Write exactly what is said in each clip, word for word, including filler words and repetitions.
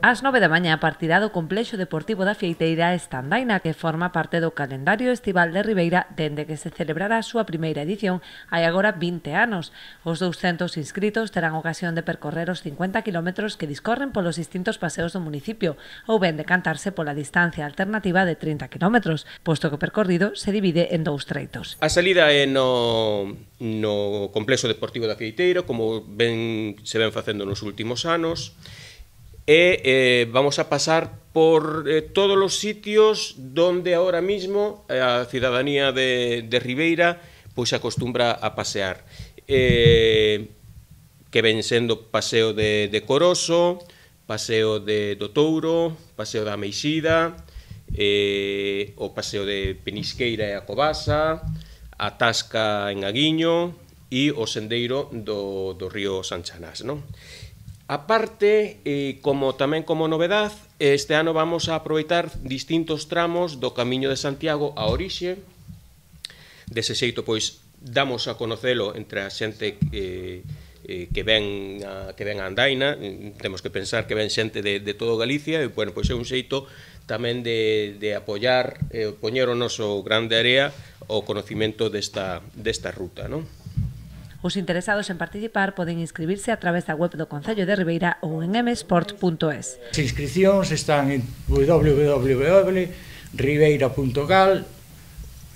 Ás nove da mañá partirá do Complexo Deportivo da Fieiteira esta andaina que forma parte do calendario estival de Ribeira dende que se celebrara a súa primeira edición hai agora vinte anos. Os douscentos inscritos terán ocasión de percorrer os cincuenta kilómetros que discorren polos distintos paseos do municipio ou ben de cantarse pola distancia alternativa de trinta kilómetros, posto que o percorrido se divide en dous treitos. A salida é no, no Complexo Deportivo da Fieiteira, como ben se ven facendo nos últimos anos, e eh, vamos a pasar por eh, todos os sitios donde ahora mismo a cidadanía de, de Ribeira pois se acostumbra a pasear, eh, que ven sendo paseo de, de Coroso, paseo de, do Touro, paseo da Meixida, eh, o paseo de Penisqueira e a Cobasa, a Tasca en Aguiño e o sendeiro do, do río Sanchanás, non? A parte, eh, como tamén como novedad, este ano vamos a aproveitar distintos tramos do Camiño de Santiago a orixe. Dese xeito, pois, damos a conocelo entre a xente eh, eh, que ven a, que ven a andaina. Temos que pensar que ven xente de, de todo Galicia, e, bueno, pois é un xeito tamén de, de apoiar, eh, poñer o noso grande area o conocimento desta, desta ruta, non? Os interesados en participar poden inscribirse a través da web do Concello de Ribeira ou en m sport punto es. As inscripcións están en w w w punto ribeira punto gal,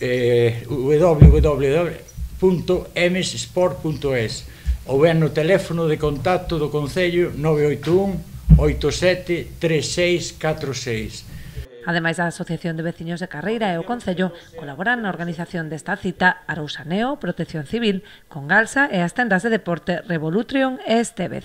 eh, w w w punto m sport punto es ou ben no teléfono de contacto do Concello nove oito un, oito sete, tres seis catro seis. Ademais, a Asociación de Veciños de Carreira e o Concello colaboran na organización desta cita Arousaneo, Protección Civil, Congalsa e as tendas de deporte Revolutrion e Estévez.